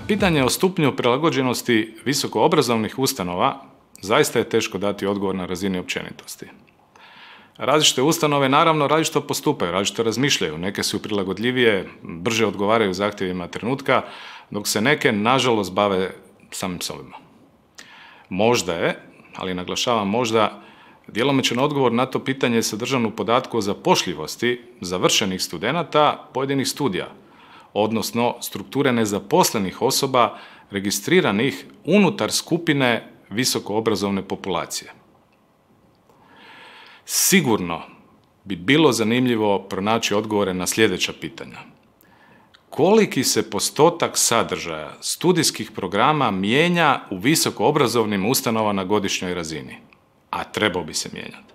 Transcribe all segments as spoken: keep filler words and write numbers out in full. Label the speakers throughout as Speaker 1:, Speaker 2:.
Speaker 1: pitanje o stupnju prilagođenosti visokoobrazovnih ustanova zaista je teško dati odgovor na razini općenitosti. Različite ustanove naravno različito postupaju, različito razmišljaju, neke su prilagodljivije, brže odgovaraju zahtjevima trenutka, dok se neke nažalost bave samim sobima. Možda je, ali naglašavam možda, djelomičan odgovor na to pitanje sadržan u podatku o zapošljivosti završenih studenata pojedinih studija, odnosno strukture nezaposlenih osoba registriranih unutar skupine visokoobrazovne populacije. Sigurno bi bilo zanimljivo pronaći odgovore na sljedeća pitanja. Koliki se postotak sadržaja studijskih programa mijenja u visokoobrazovnim ustanovama na godišnjoj razini? A trebao bi se mijenjati.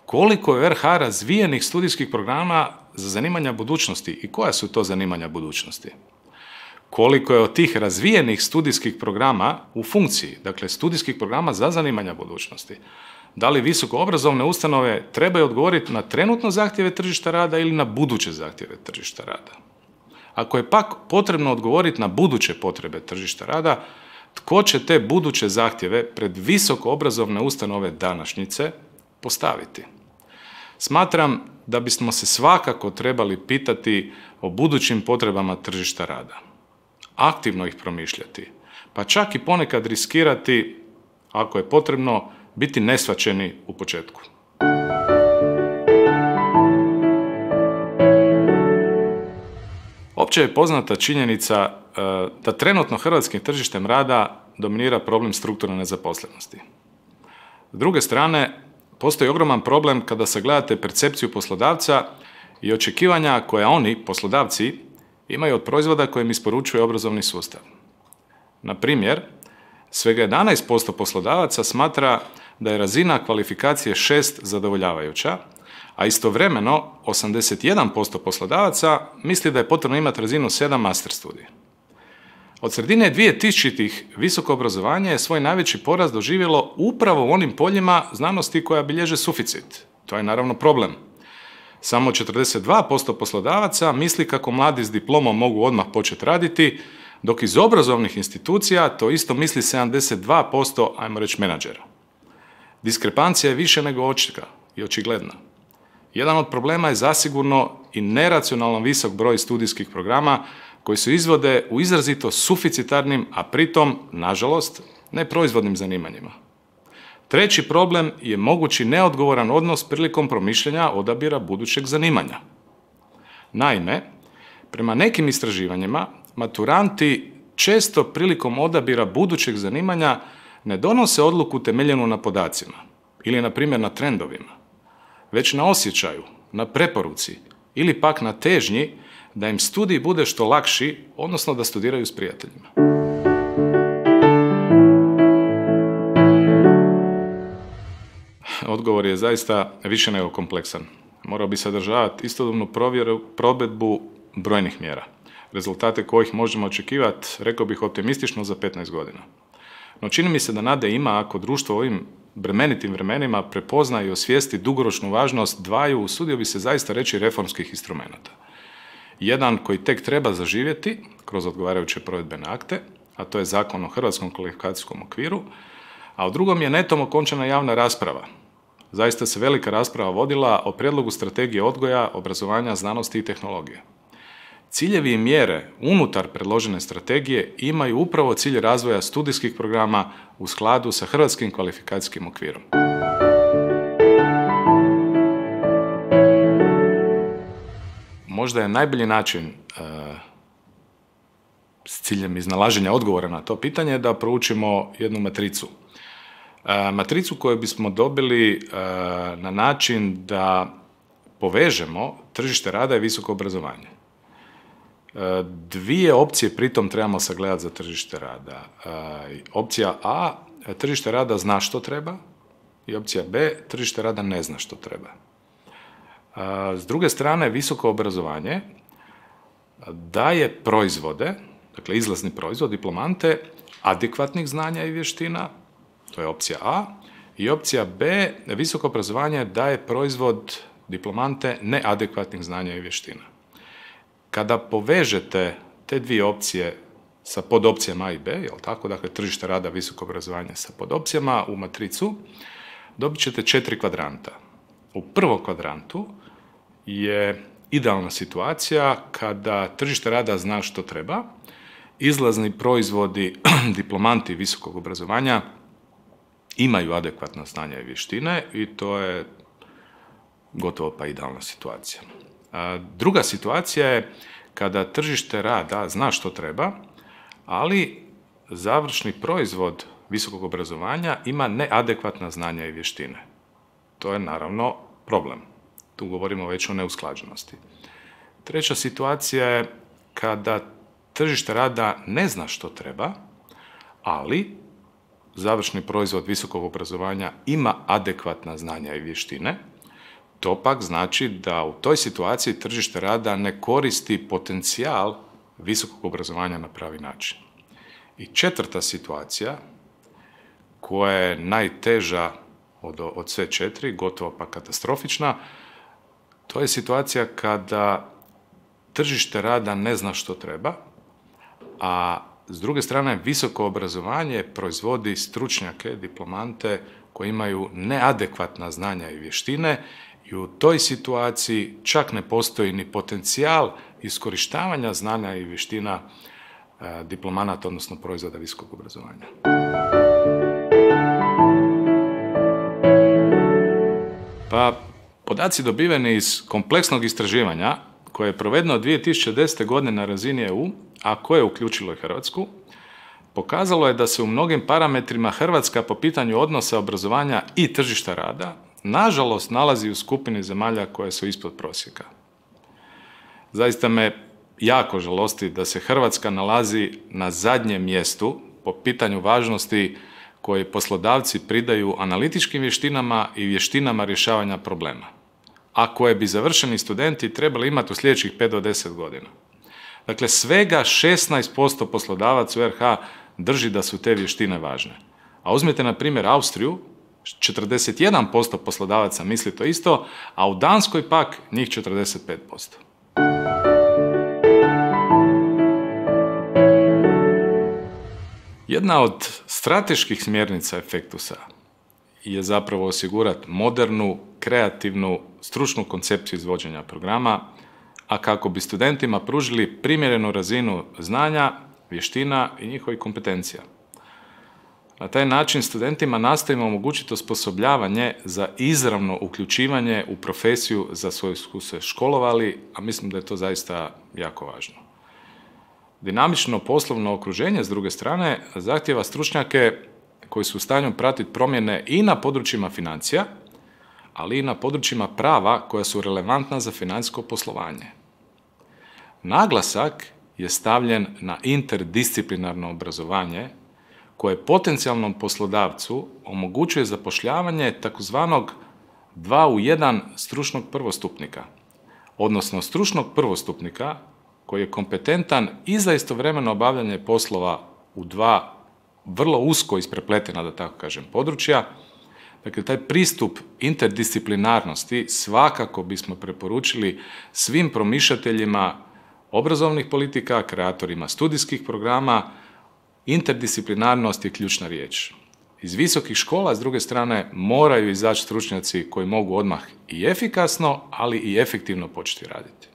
Speaker 1: Koliko je u R H razvijenih studijskih programa za zanimanja budućnosti i koja su to zanimanja budućnosti? Koliko je od tih razvijenih studijskih programa u funkciji, dakle studijskih programa za zanimanja budućnosti? Da li visokoobrazovne ustanove trebaju odgovoriti na trenutno zahtjeve tržišta rada ili na buduće zahtjeve tržišta rada? Ako je pak potrebno odgovoriti na buduće potrebe tržišta rada, tko će te buduće zahtjeve pred visokoobrazovne ustanove današnjice postaviti? Smatram da bismo se svakako trebali pitati o budućim potrebama tržišta rada. Aktivno ih promišljati, pa čak i ponekad riskirati, ako je potrebno, biti neshvaćeni u početku. Opće je poznata činjenica da trenutno hrvatskim tržištem rada dominira problem strukturne nezaposlenosti. S druge strane, postoji ogroman problem kada sagledate percepciju poslodavca i očekivanja koja oni, poslodavci, imaju od proizvoda koje im isporučuje obrazovni sustav. Na primjer, svega jedanaest posto poslodavaca smatra da je razina kvalifikacije šest zadovoljavajuća, a istovremeno osamdeset jedan posto poslodavaca misli da je potrebno imati razinu sedam master studija. Od sredine dvije tisućitih visoko obrazovanje je svoj najveći porast doživjelo upravo u onim poljima znanosti koja bilježe suficit. To je naravno problem. Samo četrdeset dva posto poslodavaca misli kako mladi s diplomom mogu odmah početi raditi, dok iz obrazovnih institucija to isto misli sedamdeset dva posto, ajmo reći, menadžera. Diskrepancija je više nego očita i očigledna. Jedan od problema je zasigurno i neracionalno visok broj studijskih programa koji se izvode u izrazito suficitarnim, a pritom, nažalost, neproizvodnim zanimanjima. Treći problem je mogući neodgovoran odnos prilikom promišljanja odabira budućeg zanimanja. Naime, prema nekim istraživanjima, maturanti često prilikom odabira budućeg zanimanja ne donose odluku temeljenu na podacima ili, na primjer, na trendovima, već na osjećaju, na preporuci ili pak na težnji da im studij bude što lakši, odnosno da studiraju s prijateljima. Odgovor je zaista više nego kompleksan. Morao bi sadržavati istodobnu provjeru, provedbu brojnih mjera, rezultate kojih možemo očekivati, rekao bih, optimistično za petnaest godina. No čini mi se da nade ima ako društvo u ovim bremenitim vremenima prepozna i osvijesti dugoročnu važnost dvaju, usudio bi se zaista reći, reformskih instrumenata. Jedan koji tek treba zaživjeti kroz odgovarajuće provedbene akte, a to je Zakon o Hrvatskom kvalifikacijskom okviru, a u drugom je netom okončana javna rasprava. Zaista se velika rasprava vodila o prijedlogu strategije odgoja, obrazovanja, znanosti i tehnologije. Ciljevi i mjere unutar predložene strategije imaju upravo cilj razvoja studijskih programa u skladu sa Hrvatskim kvalifikacijskim okvirom. Možda je najbolji način e, s ciljem iznalaženja odgovora na to pitanje da proučimo jednu matricu. E, matricu koju bismo dobili e, na način da povežemo tržište rada i visoko obrazovanje. E, dvije opcije pritom trebamo sagledati za tržište rada. E, opcija A, tržište rada zna što treba, i opcija B, tržište rada ne zna što treba. S druge strane, visoko obrazovanje daje proizvode, dakle izlazni proizvod, diplomante, adekvatnih znanja i vještina, to je opcija A, i opcija B, visoko obrazovanje daje proizvod, diplomante, neadekvatnih znanja i vještina. Kada povežete te dvije opcije sa podopcijama A i B, jel tako? Dakle, tržište rada, visoko obrazovanje sa podopcijama u matricu, dobit ćete četiri kvadranta. U prvom kvadrantu je idealna situacija kada tržište rada zna što treba, izlazni proizvodi, diplomanti visokog obrazovanja imaju adekvatna znanja i vještine i to je gotovo pa idealna situacija. A druga situacija je kada tržište rada zna što treba, ali završni proizvod visokog obrazovanja ima neadekvatna znanja i vještine. To je naravno problem. Tu govorimo već o neusklađenosti. Treća situacija je kada tržište rada ne zna što treba, ali završni proizvod visokog obrazovanja ima adekvatna znanja i vještine. To pak znači da u toj situaciji tržište rada ne koristi potencijal visokog obrazovanja na pravi način. I četvrta situacija, koja je najteža od, od sve četiri, gotovo pa katastrofična, to je situacija kada tržište rada ne zna što treba, a s druge strane visoko obrazovanje proizvodi stručnjake, diplomante koji imaju neadekvatna znanja i vještine i u toj situaciji čak ne postoji ni potencijal iskorištavanja znanja i vještina e, diplomanata, odnosno proizvoda visokog obrazovanja. Pa, podaci dobiveni iz kompleksnog istraživanja koje je provedeno dvije tisuće desete. godine na razini E U, a koje je uključilo i Hrvatsku, pokazalo je da se u mnogim parametrima Hrvatska po pitanju odnosa obrazovanja i tržišta rada nažalost nalazi u skupini zemalja koje su ispod prosjeka. Zaista me jako žalosti da se Hrvatska nalazi na zadnjem mjestu po pitanju važnosti koje poslodavci pridaju analitičkim vještinama i vještinama rješavanja problema, a koje bi završeni studenti trebali imati u sljedećih pet do deset godina. Dakle, svega šesnaest posto poslodavaca u R H drži da su te vještine važne. A uzmite, na primjer, Austriju, četrdeset jedan posto poslodavaca misli to isto, a u Danskoj pak njih četrdeset pet posto. Jedna od strateških smjernica Efektusa je zapravo osigurati modernu, kreativnu, stručnu koncepciju izvođenja programa, a kako bi studentima pružili primjerenu razinu znanja, vještina i njihovih kompetencija. Na taj način studentima nastojimo omogućiti osposobljavanje za izravno uključivanje u profesiju za svoju su se školovali, a mislim da je to zaista jako važno. Dinamično poslovno okruženje, s druge strane, zahtijeva stručnjake koji su u stanju pratiti promjene i na područjima financija, ali i na područjima prava koja su relevantna za financijsko poslovanje. Naglasak je stavljen na interdisciplinarno obrazovanje koje potencijalnom poslodavcu omogućuje zapošljavanje takozvanog dva u jedan stručnog prvostupnika, odnosno stručnog prvostupnika koji je kompetentan i za istovremeno obavljanje poslova u dva vrlo usko isprepletena, da tako kažem, područja. Dakle, taj pristup interdisciplinarnosti svakako bismo preporučili svim promišljateljima obrazovnih politika, kreatorima studijskih programa. Interdisciplinarnost je ključna riječ. Iz visokih škola, s druge strane, moraju izaći stručnjaci koji mogu odmah i efikasno, ali i efektivno početi raditi.